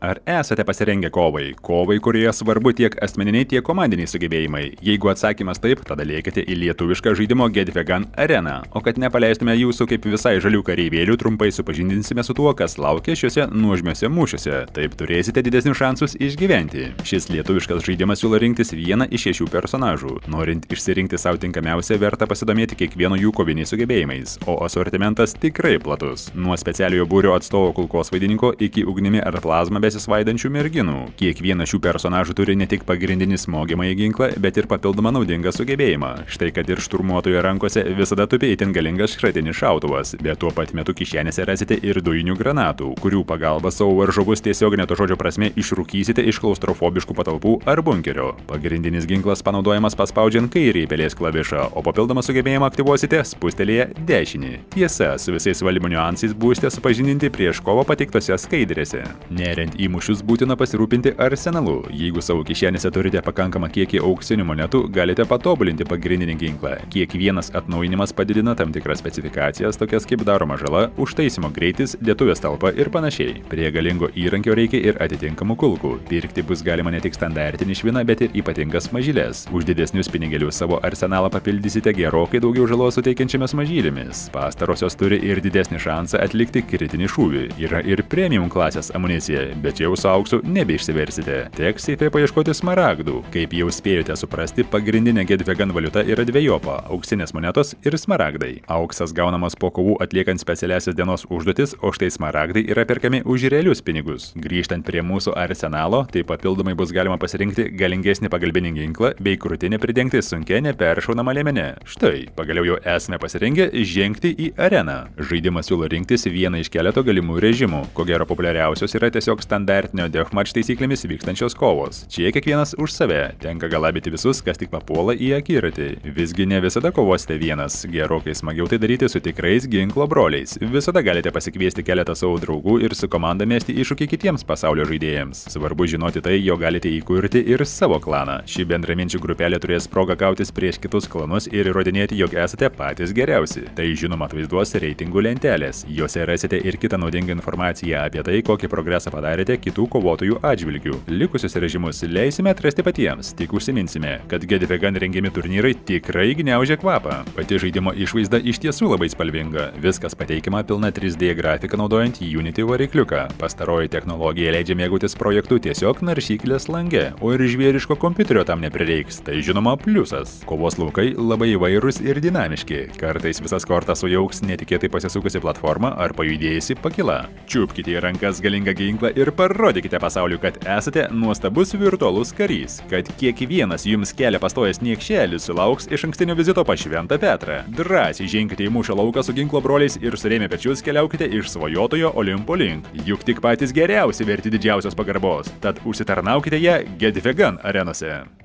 Ar esate pasirengę kovai? Kovai, kurioje svarbu tiek asmeniniai, tiek komandiniai sugebėjimai. Jeigu atsakymas taip, tada lėkite į lietuvišką žaidimo Get Vegan areną. O kad nepaleistume jūsų kaip visai žalių kareivėlių, trumpai supažindinsime su tuo, kas laukia šiuose nuožmiuose mūšiuose. Taip turėsite didesnius šansus išgyventi. Šis lietuviškas žaidimas siūlo rinktis vieną iš 6 personažų. Norint išsirinkti savo tinkamiausią, verta pasidomėti kiekvieno jų koviniais sugebėjimais, o asortimentas tikrai platus. Nuo specialiojo būrio atstovo kulkosvaidininko iki ugnimi ar plazma besisvaidančių merginų. Kiekvienas šių personažų turi ne tik pagrindinį smogiamąjį ginklą, bet ir papildomą naudingą sugebėjimą. Štai kad ir šturmuotojo rankose visada tupi itin galingas šratinis šautuvas, bet tuo pat metu kišenėse rasite ir dujinių granatų, kurių pagalba savo varžovus tiesioginė to žodžio prasme išrūkysite iš klaustrofobiškų patalpų ar bunkerio. Pagrindinis ginklas panaudojamas paspaudžiant kairį pelės klavišą, o papildomą sugebėjimą aktyvuosite spustelėję dešinį. Tiesa, su visais valdymo niuansais būsite supažindinti prieš kovą pateiktose skaidrėse. Neriant į mūšius būtina pasirūpinti arsenalu. Jeigu savo kišenėse turite pakankamą kiekį auksinių monetų, galite patobulinti pagrindinį ginklą. Kiekvienas atnaujinimas padidina tam tikras specifikacijas, tokias kaip daroma žala, užtaisymo greitis, dėtuvės talpa ir panašiai. Prie galingo įrankio reikia ir atitinkamų kulkų. Pirkti bus galima ne tik standartinį šviną, bet ir ypatingas mažylės. Už didesnius pinigėlius savo arsenalą papildysite gerokai daugiau žalos suteikiančiamis mažylėmis. Pastarosios turi ir didesnį šansą atlikti kritinį šūvį. Yra ir premium klasės amunicija, bet jau su auksu nebeišsiversite. Teks seife paieškoti smaragdų. Kaip jau spėjote suprasti, pagrindinė Get Vegan valiuta yra dvejopa – auksinės monetos ir smaragdai. Auksas gaunamas po kovų atliekant specialiasias dienos užduotis, o štai smaragdai yra perkami už realius pinigus. Grįžtant prie mūsų arsenalo, tai papildomai bus galima pasirinkti galingesnį pagalbinį ginklą bei krūtinę pridengti sunkia neperšaunama liemene. Štai, pagaliau jau esame pasirengę žengti į areną. Žaidimas siūlo rinktis vieną iš keleto galimų režimų. Ko gero populiariausios yra tiesiog standartinio deathmatch taisyklėmis vykstančios kovos. Čia kiekvienas už save. Tenka galabyti visus, kas tik papuola į akiratį. Visgi ne visada kovosite vienas. Gerokai smagiau tai daryti su tikrais ginklo broliais. Visada galite pasikviesti keletą savo draugų ir su komanda mesti iššūkį kitiems pasaulio žaidėjams. Svarbu žinoti tai, jo galite įkurti ir savo klaną. Ši bendraminčių grupelė turės progą kautis prieš kitus klanus ir įrodinėti, jog esate patys geriausi. Tai žinoma atvaizduos reitingų lentelės. Jose rasite ir kitą naudingą informaciją apie tai, kokį progresą padarėte kitų kovotojų atžvilgių. Likusius režimus leisime atrasti patiems, tik užsiminsime, kad Get Vegan rengiami turnyrai tikrai gniaužia kvapą. Pati žaidimo išvaizda iš tiesų labai spalvinga. Viskas pateikiama pilna 3D grafika naudojant Unity varikliuką. Pastaroji technologija leidžia mėgautis projektu tiesiog naršyklės lange, o ir žvėriško kompiuterio tam neprireiks. Tai žinoma pliusas. Kovos laukai labai įvairūs ir dinamiški. Kartais visas kortas sujauks netikėtai pasisukusi platforma ar pajudėjusi pakila. Čiupkite į rankas galingą ginklą ir parodykite pasauliu, kad esate nuostabus virtualus karys, kad kiekvienas jums kelią pastojęs niekšelis sulauks išankstinio vizito pas Šventą Petrą. Drąsiai ženkite į mūšio lauką su ginklo broliais ir surėmę pečius keliaukite iš svajotojo Olimpo link. Juk tik patys geriausi verti didžiausios pagarbos, tad užsitarnaukite ją Get Vegan arenose.